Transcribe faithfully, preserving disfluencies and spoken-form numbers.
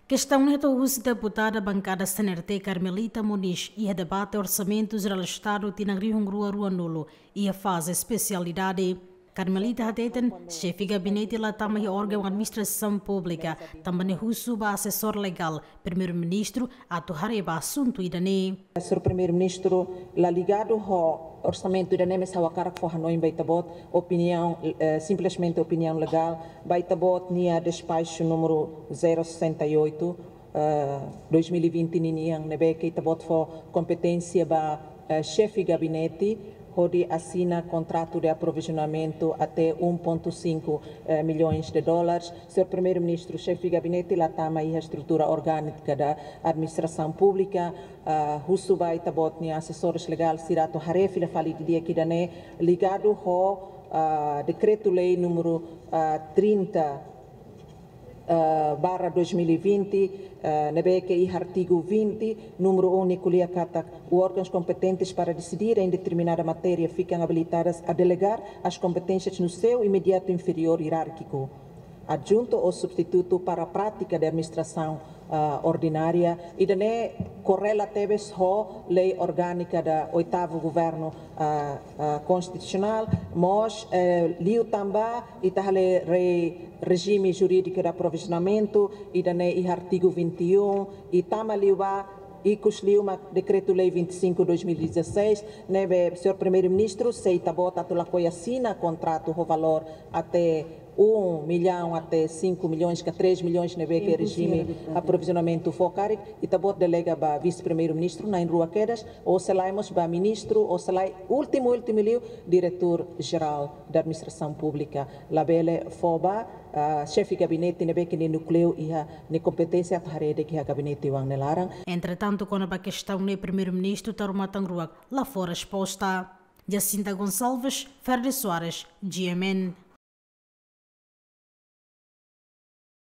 Kestaun ne'e hato'o husi deputada bankada C N R T Carmelita Moniz iha debate Orsamentu Jerál Estadu tinan rihun rua ruanulu iha faze espesialidade. Carmelita hateten, xefe gabinete la tama iha órgaun administrasaun públika, tanba ne'e husu ba asesór legál Primeiru-Ministru atu haree ba asuntu ida-ne'e. Señór Primeiru-Ministru, la ligadu ho orsamentu ida-ne'e, mas ha'u hakarak fó hanoin ba ita-boot, opiniaun, eh, simplesmente opiniaun legál, ba ita-boot nia despaxu númeru zero sessenta e oito, eh, dois mil e vinte ninian, ne'ebé ke ita-boot fó kompeténsia ba, eh, xefe gabinete, hodi asina kontratu de aprovizionamentu até um ponto cinco, eh, milhões de dólares. Señór Primeiru-Ministru, xefe gabinete la tama iha estrutura orgánizada administrasaun públika, ah, husu ba ita-boot nia asesores legál sira atu haree fila fali didi'ak ida-ne'e ligadu ho, ah, dekretu-lei númeru, ah, trinta, ah, barra dois mil e vinte, ah, ne'ebé ke iha artigu vinte, númeru um, nia ko'alia katak: os órgãos competentes para decidir em determinada matéria ficam habilitados a delegar as competências no seu imediato inferior hierárquico, adjunto ou substituto, para a prática de administração, ah, ordinária. Ida-ne'e korrela tebes ho lei orgánizada oitavu governu, ah, ah, konstitusionál, mós, eh, liu tanba ita haree re-, rejime jurídiku de aprovizionamentu, ida-ne'e iha artigu vinte e um, i tama liubá, ikus liu mak dekretu-lei vinte e cinco dois mil e dezasseis, ne'ebé, señór Primeiru-Ministru, se ita-boot atu lakohi asina kontratu ho valór até um milhão até cinco milhões ka três milhões ne'ebé ke rejime aprovizionamentu fó karik, ita-boot delega ba Vise-Primeiru-Ministru na'in-rua kedas, ou se lae mós ba ministru, ou se lae, últimu, últimu liu, diretór jerál da administrasaun públika. Labele fó ba, ah, xefe gabinete ne'ebé ke nia núkleu iha nia kompeténsia atu haree de'it iha gabinete oan nia laran. Entretantu, kona-ba kestaun ne'e Primeiru-Ministru Taur Matan Ruak la fó resposta. Jacinta Gonçalves, Ferde Soares, G M N.